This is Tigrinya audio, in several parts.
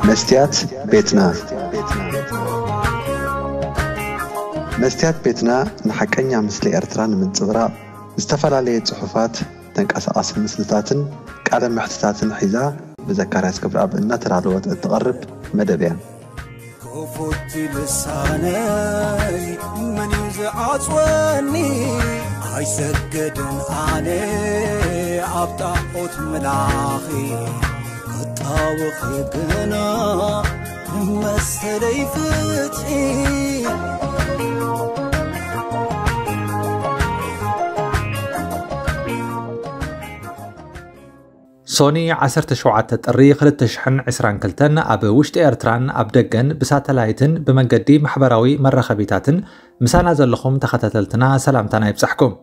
መስትያት ቤትና። መስትያት ቤትና ንሓቀኛ ምስሊ ኤርትራ ንምንጽብራቕ ዝተፈላለየ ጽሑፋት፣ ተንቀሳቓሲ ምስልታትን ቃለ መሕትታትን ሒዛ ብዘካርያስ ክብረኣብ እናተዳለወት እትቐርብ መደብ እያ። ክፉት ልሳነይ መን እዩ ዝዓጽወኒ? ኣይሰግድን ኣነ ኣብ ጣዖት ምላኺ፣ ክጣወኺ ግና መሰለይ ፍትሒ። ሶኒ ዓሰርተ ሸውዓተ ጥሪ ክልተ ሽሕን ዕስራን ክልተን ኣብ ውሽጢ ኤርትራን ኣብ ደገን ብሳተላይትን ብመንገዲ ማሕበራዊ መራኸቢታትን ምሳና ዘለኹም ተኸታተልትና ሰላምታና ይብጻሕኩም።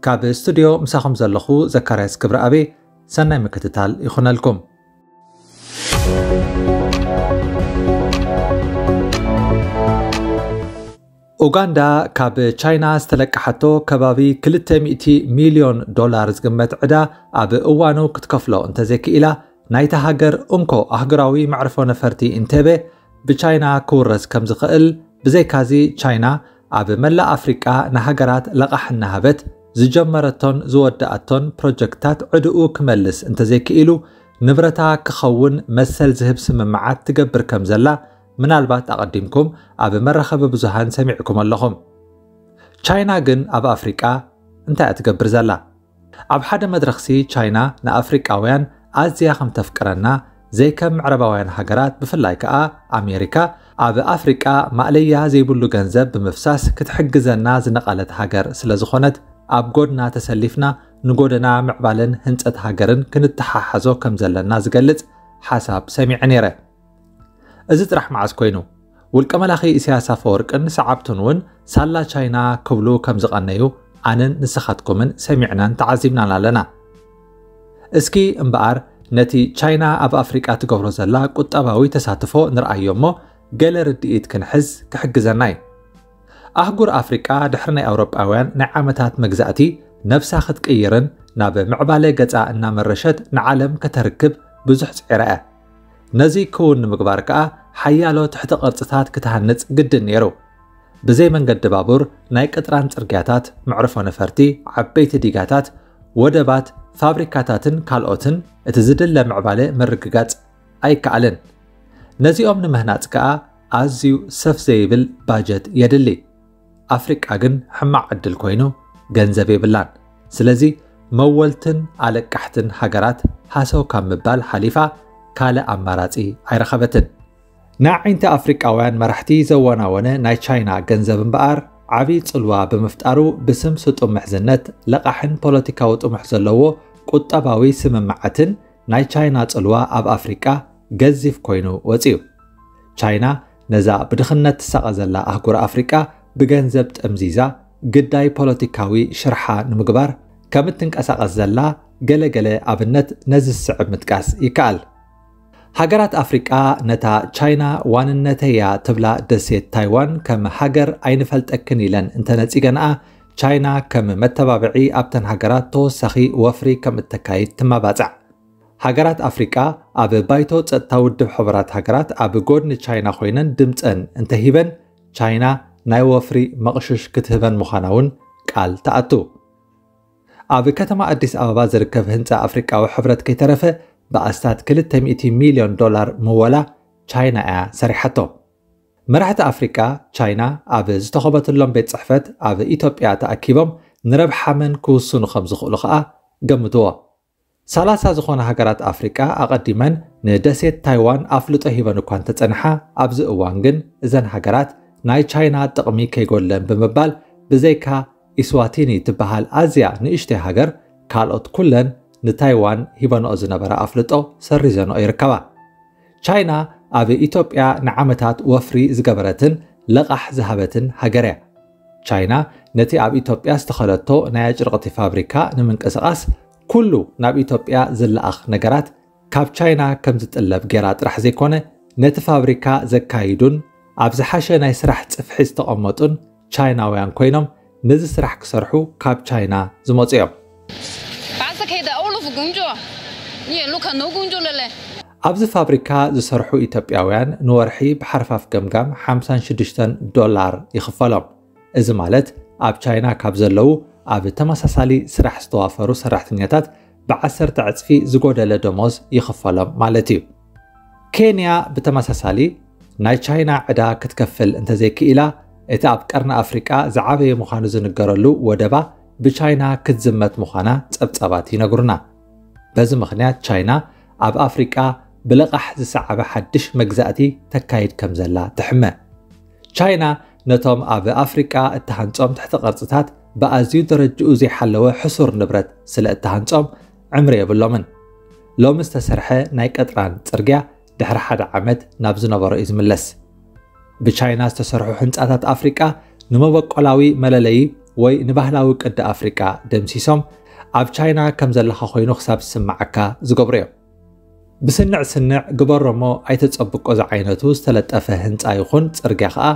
ካብ ስቱድዮ ምሳኹም ዘለኹ ዘካርያስ ክብረኣቤ፣ ሰናይ ምክትታል ይኹነልኩም። ኡጋንዳ ካብ ቻይና ዝተለቀሓቶ ከባቢ ክልተ ሚእቲ ሚልዮን ዶላር ዝግመት ዕዳ ኣብ እዋኑ ክትከፍሎ እንተዘይክኢላ፣ ናይታ ሃገር እንኮ ኣህጉራዊ መዕርፎ ነፈርቲ ኢንቴቤ ብቻይና ክውረስ ከም ዝኽእል፣ ብዘይካዚ ቻይና ኣብ መላእ ኣፍሪቃ ንሃገራት ለቓሕ እናሃበት ዝጀመረቶን ዝወደኣቶን ፕሮጀክታት ዕድኡ ክመልስ እንተዘይክኢሉ፣ ንብረታ ክኸውን መሰል ዝህብ ስምምዓት ትገብር ከም ዘላ ምናልባት ኣቐዲምኩም ኣብ መራኸቢ ብዙሃን ሰሚዕኩም ኣለኹም። ቻይና ግን ኣብ ኣፍሪቃ እንታይ እያ ትገብር ዘላ? ኣብ ሓደ መድረኽሲ ቻይና ንኣፍሪቃውያን ኣዝያ ከም ተፍቅረና፣ ዘይከም ምዕራባውያን ሃገራት፣ ብፍላይ ከኣ ኣሜሪካ፣ ኣብ ኣፍሪቃ ማእለያ ዘይብሉ ገንዘብ ብምፍሳስ ክትሕግዘና ዝነቐለት ሃገር ስለ ዝኾነት፣ ኣብ ጎድና ተሰሊፍና ንጎደና ምዕባለን ህንጸት ሃገርን ክንተሓሓዞ ከም ዘለና ዝገልጽ ሓሳብ ሰሚዐ ነይረ። እዚ ጥራሕ መዓስ ኮይኑ? ውልቀ መላኺ ኢሳያስ ኣፈወርቅን ሰዓብቱን እውን ሳላ ቻይና ክብሉ ከም ዝቐነዩ ኣነን ንስኻትኩምን ሰሚዕናን ተዓዚብናን ኣለና። እስኪ እምበኣር ነቲ ቻይና ኣብ ኣፍሪቃ ትገብሮ ዘላ ቁጠባዊ ተሳትፎ ንርኣዮ እሞ፣ ገለ ርድኢት ክንሕዝ ክሕግዘና እዩ። ኣህጉር ኣፍሪቃ ድሕሪ ናይ ኣውሮጳውያን ናይ ዓመታት መግዛእቲ ነብሳ ክትቅይርን ናብ ምዕባለ ገጻ እናመረሸት ንዓለም ከተርክብ ብዙሕ ጽዒራ እያ። ነዚ ክውን ንምግባር ከኣ ሓያሎ ትሕተ ቅርጽታት ክትሃንጽ ግድን ነይሩ። ብዘይ መንገዲ ባቡር፣ ናይ ቅጥራን ጽርግያታት፣ መዕርፎ ነፈርቲ፣ ዓበይቲ ዲጋታት፣ ወደባት፣ ፋብሪካታትን ካልኦትን እቲ ዝድለ ምዕባለ ምርግጋጽ ኣይከኣልን። ነዚኦም ንምህናጽ ከኣ ኣዝዩ ሰፍ ዘይብል ባጀት የድሊ። ኣፍሪቃ ግን ሕማቕ ዕድል ኮይኑ ገንዘብ የብላን። ስለዚ መወልትን ኣለቃሕትን ሃገራት ሃሰው ካብ ምባል ሓሊፋ ካልእ ኣማራጺ ኣይረኸበትን። ንኣዒንቲ ኣፍሪቃውያን መራሕቲ ዘወናወነ ናይ ቻይና ገንዘብ እምበኣር ዓቢ ጽልዋ ብምፍጣሩ ብስም ስጡም ምሕዝነት ለቓሕን ፖለቲካዊ ጥሙሕ ዘለዎ ቁጠባዊ ስምምዓትን ናይ ቻይና ጽልዋ ኣብ ኣፍሪቃ ገዚፍ ኮይኑ ወጺኡ። ቻይና ነዛ ብድኽነት ትሳቐ ዘላ ኣህጉር ኣፍሪቃ ብገንዘብ ጠምዚዛ ግዳይ ፖለቲካዊ ሽርሓ ንምግባር ከም እትንቀሳቐስ ዘላ ገለ ገለ ኣብነት ነዚ ዝስዕብ ምጥቃስ ይከኣል። ሃገራት ኣፍሪቃ ነታ ቻይና ዋንነተያ ትብላ ደሴት ታይዋን ከም ሃገር ኣይንፈልጠክን ኢለን እንተነጺገንኣ፣ ቻይና ከም መተባብዒ ኣብተን ሃገራት ተወሳኺ ወፍሪ ከም እተካይድ ትመባጻዕ። ሃገራት ኣፍሪቃ ኣብ ባይቶ ጸጥታ ውድብ ሕቡራት ሃገራት ኣብ ጎድኒ ቻይና ኮይነን ድምጸን እንተሂበን፣ ቻይና ናይ ወፍሪ መቕሽሽ ክትህበን ምዃና እውን ቃል ትኣቱ። ኣብ ከተማ ኣዲስ ኣበባ ዝርከብ ህንጻ ኣፍሪቃዊ ሕብረት ከይተረፈ ብኣስታት ክልተ ሚእቲ ሚልዮን ዶላር ምወላ ቻይና እያ ሰሪሓቶ። መራሕቲ ኣፍሪቃ ቻይና ኣብ ዝተኸበትሎም ቤት ጽሕፈት ኣብ ኢትዮጵያ ተኣኪቦም ንረብሓ መን ክውስኑ ከም ዝኽእሉ ከኣ ገምትዎ። ሰላሳ ዝኾና ሃገራት ኣፍሪቃ ኣቐዲመን ንደሴት ታይዋን ኣፍልጦ ሂበን እኳ እንተጸንሓ፣ ኣብዚ እዋን ግን እዘን ሃገራት ናይ ቻይና ጥቕሚ ከይጎድለን ብምባል፣ ብዘይካ ኢስዋቲኒ ትበሃል ኣዝያ ንእሽተይ ሃገር፣ ካልኦት ኩለን ንታይዋን ሂበንኦ ዝነበራ ኣፍልጦ ሰሪዘንኦ ይርከባ። ቻይና ኣብ ኢትዮጵያ ንዓመታት ወፍሪ ዝገበረትን ለቓሕ ዝሃበትን ሃገር እያ። ቻይና ነቲ ኣብ ኢትዮጵያ ዝተኸለቶ ናይ ኣጭርቕቲ ፋብሪካ ንምንቅስቓስ ኩሉ ናብ ኢትዮጵያ ዝለኣኽ ነገራት ካብ ቻይና ከም ዝጥለብ ጌራ ጥራሕ ዘይኮነ፣ ነቲ ፋብሪካ ዘካይዱን ኣብ ዝሓሸ ናይ ስራሕ ጽፍሒ ዝተቐመጡን ቻይናውያን ኮይኖም ነዚ ስራሕ ክሰርሑ ካብ ቻይና ዝመጹ እዮም። 把这开的欧陆府工作，你也陆看奴工作了嘞。ኣብዚ ፋብሪካ ዝሰርሑ ኢትዮጵያውያን ንወርሒ ብሓርፋፍ ገምጋም ሓምሳን ሽዱሽተን ዶላር ይኽፈሎም። እዚ ማለት ኣብ ቻይና ካብ ዘለዉ ኣብ ተመሳሳሊ ስራሕ ዝተዋፈሩ ሰራሕተኛታት ብዓሰርተ ዕጽፊ ዝጎደለ ደሞዝ ይኽፈሎም ማለት እዩ። ኬንያ ብተመሳሳሊ ናይ ቻይና ዕዳ ክትከፍል እንተዘይክኢላ፣ እቲ ኣብ ቀርኒ ኣፍሪቃ ዝዓበየ ምዃኑ ዝንገረሉ ወደባ ብቻይና ክትዝመት ምዃና ጸብጻባት ይነግሩና። በዚ ምኽንያት ቻይና ኣብ ኣፍሪቃ ብልቓሕ ዝሰዓበ ሓድሽ መግዛእቲ ተካይድ ከም ዘላ ትሕመ። ቻይና ነቶም ኣብ ኣፍሪቃ እተሃንጾም ትሕተ ቅርጽታት ብኣዝዩ ደረጅኡ ዘይሓለወ ሕሱር ንብረት ስለ እተሃንጾም ዕምሪ የብሎምን። ሎሚ ዝተሰርሐ ናይ ቀጥራን ጽርግያ ድሕሪ ሓደ ዓመት ናብ ዝነበሮ እዩ ዝምለስ። ብቻይና ዝተሰርሑ ህንጻታት ኣፍሪቃ ንመበቆላዊ መለለዪ ወይ ንባህላዊ ቅዲ ኣፍሪቃ ደምሲሶም፣ ኣብ ቻይና ከም ዘለኻ ኮይኑ ክሳብ ዝስምዓካ ዝገብሩ እዮም። ብስንዕ ስንዕ ግበሮ እሞ ኣይተጸብቆ ዝዓይነቱ ዝተለጠፈ ህንጻ ይኹን ጽርግያ ከኣ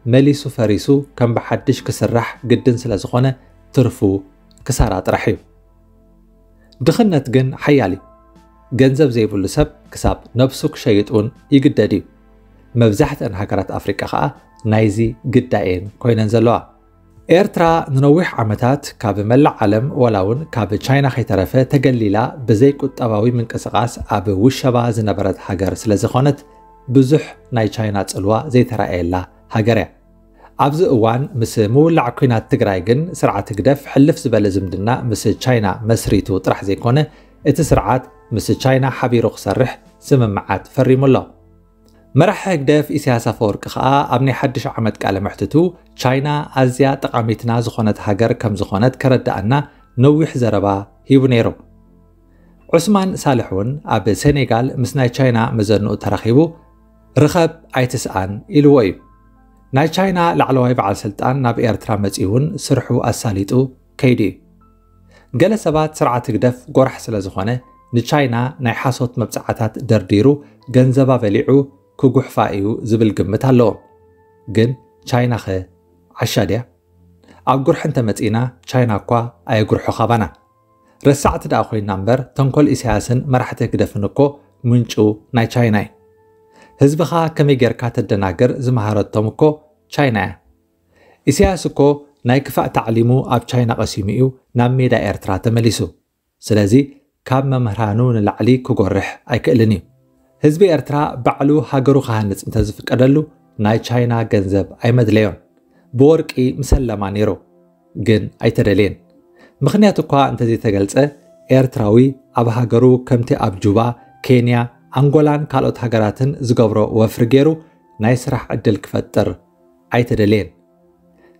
መሊሱ ፈሪሱ ከም ብሓድሽ ክስራሕ ግድን ስለ ዝኾነ ትርፉ ክሳራ ጥራሕ እዩ። ድኽነት ግን ሓያል እዩ። ገንዘብ ዘይብሉ ሰብ ክሳብ ነብሱ ክሸይጥ እውን ይግደድ እዩ። መብዛሕትአን ሃገራት ኣፍሪቃ ከኣ ናይዚ ግዳይ እየን ኮይነን ዘለዋ። ኤርትራ ንነዊሕ ዓመታት ካብ መላእ ዓለም ዋላ እውን ካብ ቻይና ከይተረፈ ተገሊላ ብዘይ ቁጠባዊ ምንቅስቓስ ኣብ ውሸባ ዝነበረት ሃገር ስለ ዝኾነት ብዙሕ ናይ ቻይና ጽልዋ ዘይተራእየላ ሃገር እያ። ኣብዚ እዋን ምስ ምውላዕ ኲናት ትግራይ ግን ስርዓት ህግደፍ ሕልፍ ዝበለ ዝምድና ምስ ቻይና መስሪቱ ጥራሕ ዘይኮነ እቲ ስርዓት ምስ ቻይና ሓቢሩ ክሰርሕ ስምምዓት ፈሪሙ ኣሎ። መራሒ ህግደፍ ኢሳያስ ኣፈወርቂ ከኣ ኣብ ናይ ሓድሽ ዓመት ቃለ መሕትቱ ቻይና ኣዝያ ጠቓሚትና ዝኾነት ሃገር ከም ዝኾነት ከረድኣና ነዊሕ ዘረባ ሂቡ ነይሩ። ዑስማን ሳልሕ እውን ኣብ ሴኔጋል ምስ ናይ ቻይና መዘንኡ ተራኺቡ ርኸብ ኣይትስኣን ኢልዎ እዩ። ናይ ቻይና ላዕለዋይ በዓል ስልጣን ናብ ኤርትራ መጺኡ እውን ስርሑ ኣሳሊጡ ከይዱ እዩ። ገለ ሰባት ስርዓት ህግደፍ ጎራሕ ስለ ዝኾነ ንቻይና ናይ ሓሶት መብጽዓታት ደርዲሩ ገንዘባ በሊዑ ክጉሕፋ እዩ ዝብል ግምት ኣለዎም። ግን ቻይናኸ ዓሻ ድያ? ኣብ ጉርሒ እንተመጺእና ቻይና እኳ ኣየጉርሖ ካባና። ረሳዕቲ ደኣ ኮይና እምበር ተንኮል ኢሳያስን መራሕቲ ህግደፍን እኮ ምንጩ ናይ ቻይና እዩ። ህዝብኻ ከመይ ጌርካ ተደናግር ዝመሃረቶም እኮ ቻይና እያ። ኢሳያስ እኮ ናይ ክፋእ ታዕሊሙ ኣብ ቻይና ቀሲሙ እዩ ናብ ሜዳ ኤርትራ ተመሊሱ። ስለዚ ካብ መምህራኑ ንላዕሊ ክጎርሕ ኣይክእልን እዩ። ህዝቢ ኤርትራ ባዕሉ ሃገሩ ክሃንጽ እንተዝፍቀደሉ ናይ ቻይና ገንዘብ ኣይመድለዮን። ብወርቂ ምሰለማ ነይሩ፣ ግን ኣይተደልየን። ምኽንያት እኳ እንተዘይተገልጸ ኤርትራዊ ኣብ ሃገሩ ከምቲ ኣብ ጁባ፣ ኬንያ፣ ኣንጎላን ካልኦት ሃገራትን ዝገብሮ ወፍሪ ገይሩ ናይ ስራሕ ዕድል ክፈጥር ኣይተደልየን።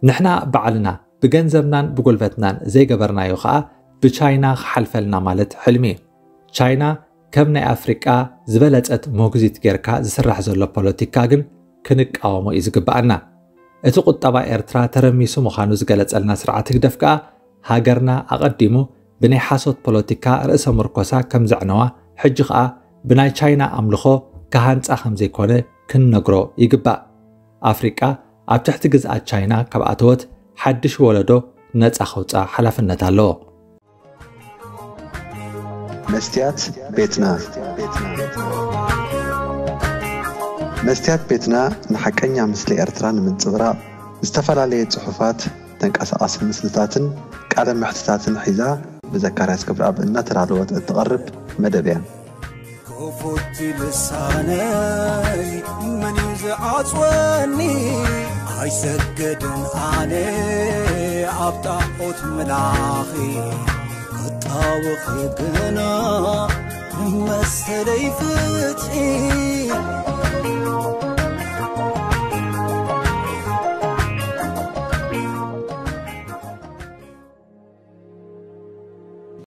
ንሕና ባዕልና ብገንዘብናን ብጉልበትናን ዘይገበርናዮ ኸኣ ብቻይና ክሓልፈልና ማለት ሕልሚ እዩ። ቻይና ከም ናይ ኣፍሪቃ ዝበለጸት ሞግዚት ጌርካ ዝስራሕ ዘሎ ፖለቲካ ግን ክንቃወሞ እዩ ዝግብኣና። እቲ ቁጠባ ኤርትራ ተረሚሱ ምዃኑ ዝገለጸልና ስርዓት ህግደፍ ከኣ ሃገርና ኣቐዲሙ ብናይ ሓሶት ፖለቲካ ርእሰ ምርኮሳ ከም ዘዕነዋ፣ ሕጂ ኸኣ ብናይ ቻይና ኣምልኾ ክሃንጻ ከም ዘይኮነ ክንነግሮ ይግባእ። ኣፍሪቃ ኣብ ትሕቲ ግዝኣት ቻይና ካብ ኣተወት ሓድሽ ወለዶ ነጻ ከውጽኣ ሓላፍነት ኣለዎ። መስትያት ቤትና። መስትያት ቤትና ንሓቀኛ ምስሊ ኤርትራ ንምንጽብራቕ ዝተፈላለየ ጽሑፋት፣ ተንቀሳቓሲ ምስልታትን ቃለ መሕትታትን ሒዛ ብዘካርያስ ክብረኣብ እናተዳለወት እትቐርብ መደብ እያ። ክፉት ልሳነይ መን እዩ ዝዓጽወኒ? ኣይሰግድን ኣነ ኣብ ጣዖት ምላኺ፣ ክጣወኺ ግና መሰለይ ፍትሒ።